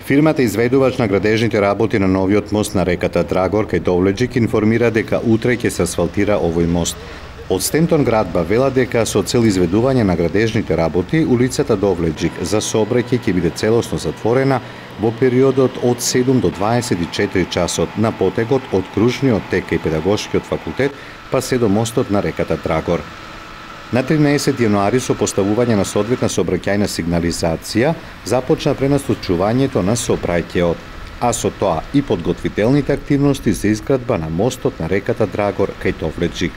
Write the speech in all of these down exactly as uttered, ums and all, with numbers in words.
Фирмата изведувач на градежните работи на новиот мост на реката Драгор кај Довлеџик информира дека утре ќе се асфалтира овој мост. Од Стентон градба вела дека со цел изведување на градежните работи, улицата Довлеџик за сообраќај ќе биде целосно затворена во периодот од седум до дваесет и четири часот на потегот од Кружниот тек кај Педагошкиот факултет па се до мостот на реката Драгор. На тринаесети јануари со поставување на соодветна сообраќајна сигнализација започна пренасочувањето на сообраќајот, а со тоа и подготвителните активности за изградба на мостот на реката Драгор кај Довлеџик.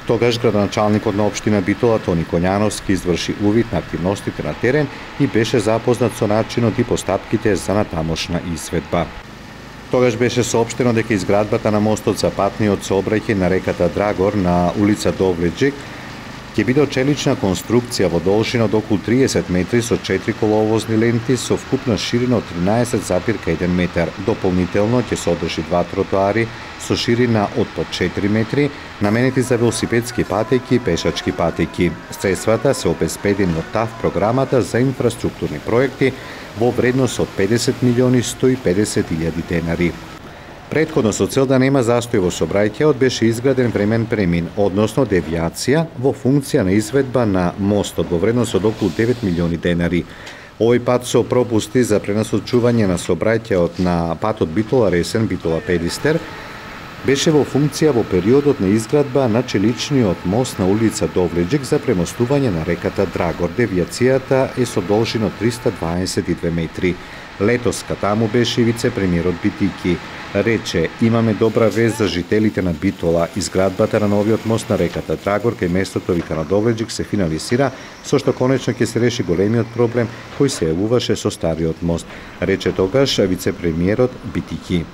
Тогаш градоначалникот на општина Битола Тони Коњановски изврши увид на активностите на терен и беше запознат со начинот и постапките за натамошна изведба. Тогаш беше соопштено дека изградбата на мостот за патниот сообраќај на реката Драгор на улица Довлеџик ќе биде очелична конструкција во должина од околу триесет метри со четири коловозни ленти со вкупна ширина од тринаесет запир еден метар. Дополнително ќе содржи два тротоари со ширина од по четири метри, наменети за велосипедски патеки и пешачки патеки. Средствата се обезбедени од ТАФ програмата за инфраструктурни проекти во вредност од педесет милиони сто и педесет илјади денари. Претходно со цел да нема застој во сообраќајот беше изграден времен премин, односно девијација во функција на изведба на мостот во вредност од околу девет милиони денари. Овој пат со пропусти за пренасочување на сообраќајот на патот Битола Ресен Битола Педистер беше во функција во периодот на изградба на челичниот мост на улица Довлеџик за премостување на реката Драгор. Девијацијата е со должина триста дваесет и две метри. Летоска таму беше и вице-премиерот Битики. Рече, имаме добра вест за жителите на Битола. Изградбата на новиот мост на реката Драгор кај местото вика на Довлеџик се финализира, со што конечно ќе се реши големиот проблем кој се јавуваше со стариот мост. Рече тогаш вице-премиерот Битики.